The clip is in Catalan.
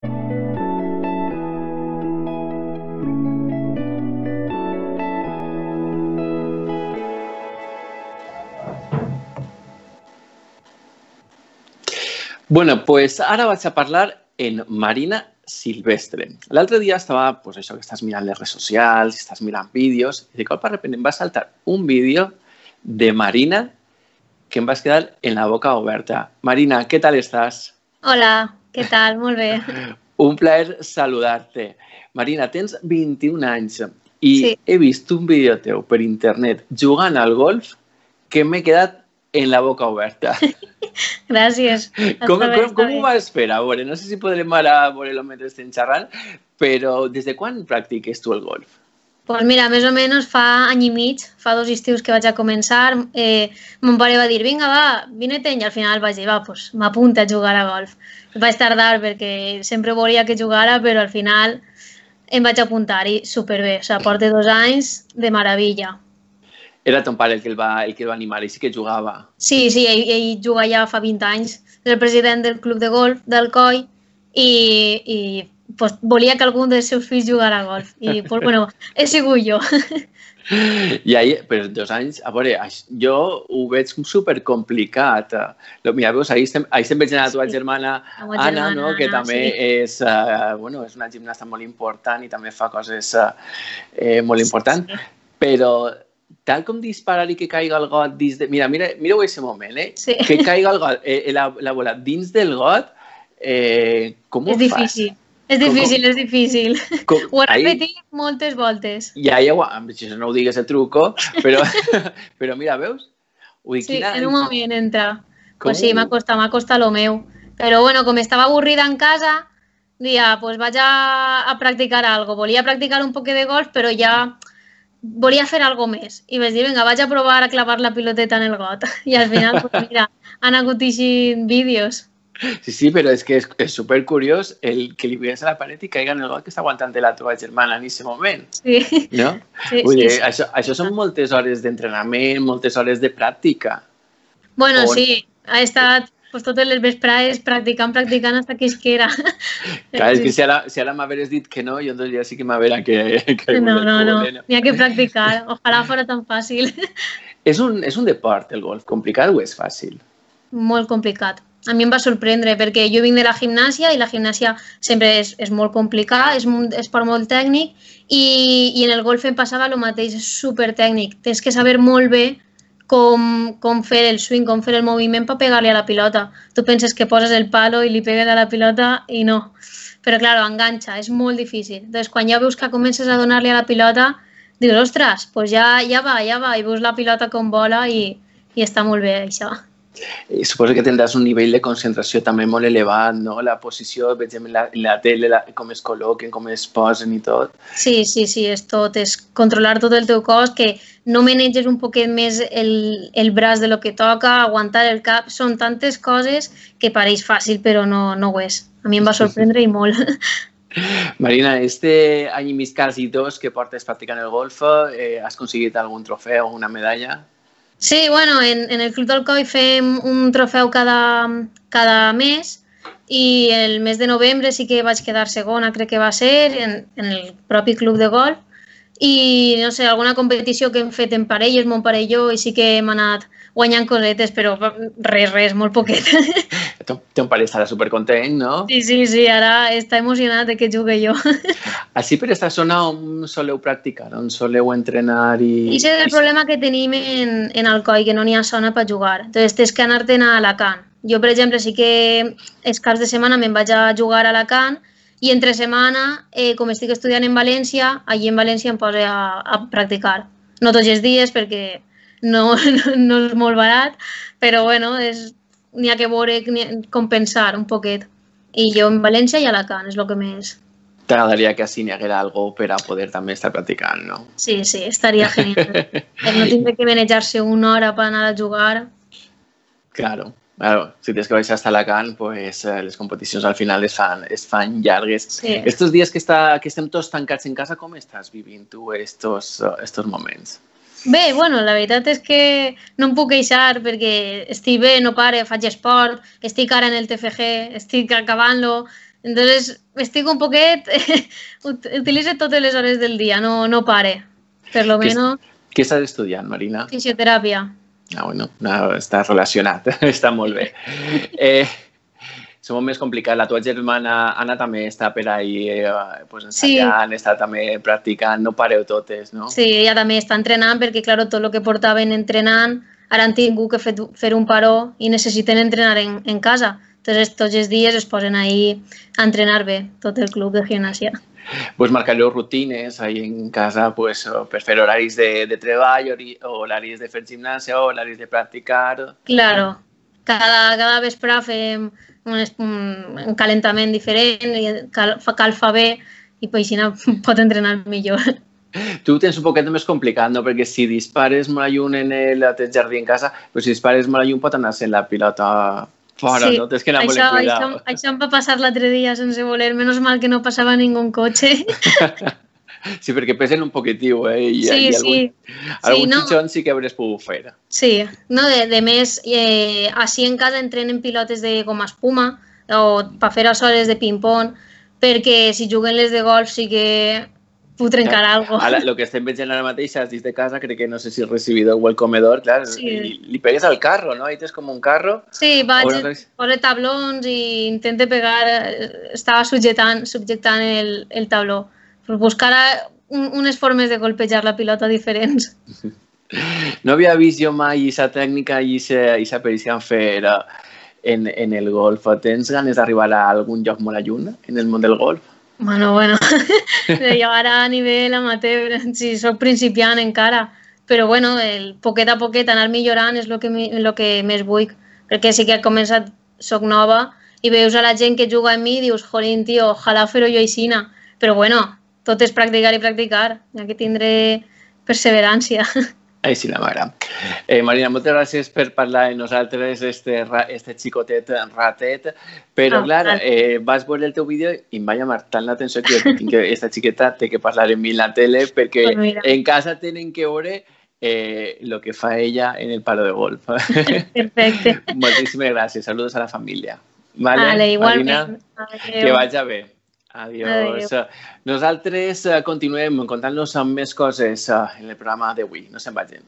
Bueno, pues ara vaig a parlar en Marina Silvestre. L'altre dia estava, pues això, que estàs mirant les redes socials, estàs mirant vídeos, i de cop de repente em va saltar un vídeo de Marina que em vas quedar en la boca oberta. Marina, què tal estàs? Hola, què tal? Molt bé. Un plaer saludar-te. Marina, tens 21 anys i Sí. he vist un vídeo teu per internet jugant al golf que m'he quedat en la boca oberta. Gràcies. Com ho vas fer? A veure, no sé si podrem ara veure-lo mentre estem xerrant, però des de quan practiques tu el golf? Pues mira, més o menys fa any i mig, fa 2 estius que vaig a començar, mon pare va dir, vinga, va, vine-te'n, i al final vaig dir, va, pues m'apunta a jugar a golf. Vaig tardar perquè sempre volia que jugara, però al final em vaig apuntar i superbé, o sigui, porto 2 anys de meravella. Era ton pare el que el va animar i sí que jugava. Sí, ell juga ja fa 20 anys, és el president del club de golf d'Alcoi i pues, volia que algun dels seus fills jugara a golf. I pues, bueno, he sigut jo. I ahir, per 2 anys, a veure, jo ho veig supercomplicat. Mira, veus, ahir estem veient a la teva germana Anna, no? Que també és una gimnasta molt important i també fa coses molt importants, però tal com disparar i que caiga el got dins de... Mireu aquest moment, Sí. Que caiga el got, la bola dins del got, com ho fas? És difícil. Ho he repetit moltes voltes. Ja, si no ho digues el truco, però mira, veus? Sí, en un moment entra. Pues sí, m'ha costat lo meu. Però bueno, com estava avorrida en casa, dia, pues vaig a practicar algo. Volia practicar un poc de golf, però ja volia fer algo més. I vaig dir, vinga, vaig a provar a clavar la piloteta en el got. I al final, pues mira, han hagut eixit vídeos. Sí, però és que és supercuriós el que li pegues a la paret i caiga en el got que està aguantant la teva germana en aquest moment. Sí. No? Vull dir, això són moltes hores d'entrenament, moltes hores de pràctica. Bueno, sí, ha estat totes les vesprades practicant fins que isquera. Clar, és que si ara m'haveres dit que no, jo ja sí que m'havera que... No, n'hi ha que practicar. Ojalà fos tan fàcil. És un deport, el golf, complicat o és fàcil? Molt complicat. A mi em va sorprendre perquè jo vinc de la gimnàsia i la gimnàsia sempre és molt complicada, és un esport molt tècnic i en el golf em passava el mateix, és supertècnic. Tens que saber molt bé com fer el swing, com fer el moviment per pegar-li a la pilota. Tu penses que poses el palo i li pegues a la pilota i no. Però, clar, enganxa, és molt difícil. Doncs quan ja veus que comences a donar-li a la pilota, dius, ostres, doncs ja va, i veus la pilota com vola i està molt bé, això. Suposo que tindràs un nivell de concentració també molt elevat, no? La posició, veiem en la tele, com es col·loquen, com es posen i tot. Sí, és tot. És controlar tot el teu cos, que no maneges un poquet més el braç de lo que toca, aguantar el cap. Són tantes coses que pareix fàcil, però no ho és. A mi em va sorprendre i molt. Marina, este any i mig, quasi 2 que portes practicant el golf, has aconseguit algun trofeu o una medalla? Sí, bueno, en el Club d'Alcoi fem un trofeu cada mes i el mes de novembre sí que vaig quedar segona, crec que va ser, en el propi club de golf i, no sé, alguna competició que hem fet en parelles, mon pare i jo, i sí que hem anat guanyant cosetes, però res, molt poquet. Ton pare estarà supercontent, no? Sí, ara està emocionat de que jugue jo. Així per aquesta zona on soleu practicar, on soleu entrenar i... Aquest és el problema que tenim en Alcoi, que no n'hi ha zona per jugar. Entonces tens que anar-te'n a Alacant. Jo, per exemple, sí que els caps de setmana me'n vaig a jugar a Alacant i entre setmana, com estic estudiant en València, allí en València em poso a practicar. No tots els dies perquè no és molt barat, però bueno, n'hi ha que veure, compensar un poquet. I jo en València i a Alacant és el que més... T'agradaria que així n'hi haguera algo per a poder també estar practicant, no? Sí, estaria genial. No tindre que manejar-se una hora per anar a jugar. Claro. Si tens que baixar hasta Alacant, pues les competicions al final es fan llargues. Sí. Estos dies que estem tots tancats en casa, com estàs vivint tu estos moments? Bé, bueno, la veritat és que no em puc queixar perquè estic bé, no pare, faig esport, estic ara en el TFG, estic acabant-lo, Entonces, estic un poquet... Utilitzo totes les hores del dia, no pare. Per lo menos... Què estàs estudiant, Marina? Fisioteràpia. Ah, bueno, està relacionat, està molt bé. És molt més complicat. La teva germana Anna també està per ahí ensayant, està també practicant, no pareu totes, no? Sí, ella també està entrenant perquè, clar, tot el que portaven entrenant, ara han tingut que fer un paró i necessiten entrenar en casa. Entonces, tots els dies es posen ahí a entrenar bé, tot el club de gimnàsia. Pues marcareu rutines ahí en casa per fer horaris de treball, horaris de fer gimnàsia, horaris de practicar... Claro, cada vespre fem un calentament diferent, calfa bé i així pot entrenar millor. Tu ho tens un poquet més complicat, no? Perquè si dispares molt lluny en el teu jardí en casa, però si dispares molt lluny pot anar sent la pilota fora, no? Tens que anar molt en cuidado. Això em va passar l'altre dia sense voler, menys mal que no passava ningú cotxe. Sí, perquè pesen un poquitiu, Sí. Algun xitxon sí que hauràs pogut fer. Sí, no, de més, així en casa entrenen pilotes de goma espuma o per fer hores de ping-pong, perquè si juguen les de golf sí que puc trencar alguna cosa. El que estem veient ara mateix, has dit de casa, crec que no sé si el recibidor o el comedor, clar, li pegues al carro, no? Ahí tens com un carro. Sí, poso tablons i intento pegar, estava subjectant el tabló. Buscar unes formes de golpejar la pilota diferents. No havia vist jo mai aquesta tècnica i aquesta perícia en fer en el golf. Tens ganes d'arribar a algun lloc molt lluny en el món del golf? Bueno, jo ara a nivell amateur, sí, soc principiant encara, però bueno, poquet a poquet anar millorant és el que més vull, perquè sí que he començat, soc nova, i veus a la gent que juga amb mi i dius, jolín, tio, ojalà fer-ho jo aixina, però bueno, tot és practicar i practicar, ja que tindré perseverància. Així la mare. Marina, moltes gràcies per parlar amb nosaltres, este xicotet ratet, però clar, vas veure el teu vídeo i em va llamar tant l'atenció que aquesta xiqueta té que parlar amb mi en la tele perquè en casa tenen que veure el que fa ella en el palo de golf. Perfecte. Moltíssimes gràcies. Saludos a la família. Vale, igualment. Que vagi bé. Adiós. Nosaltres continuem contant-nos amb més coses en el programa d'avui. No se'n vagin.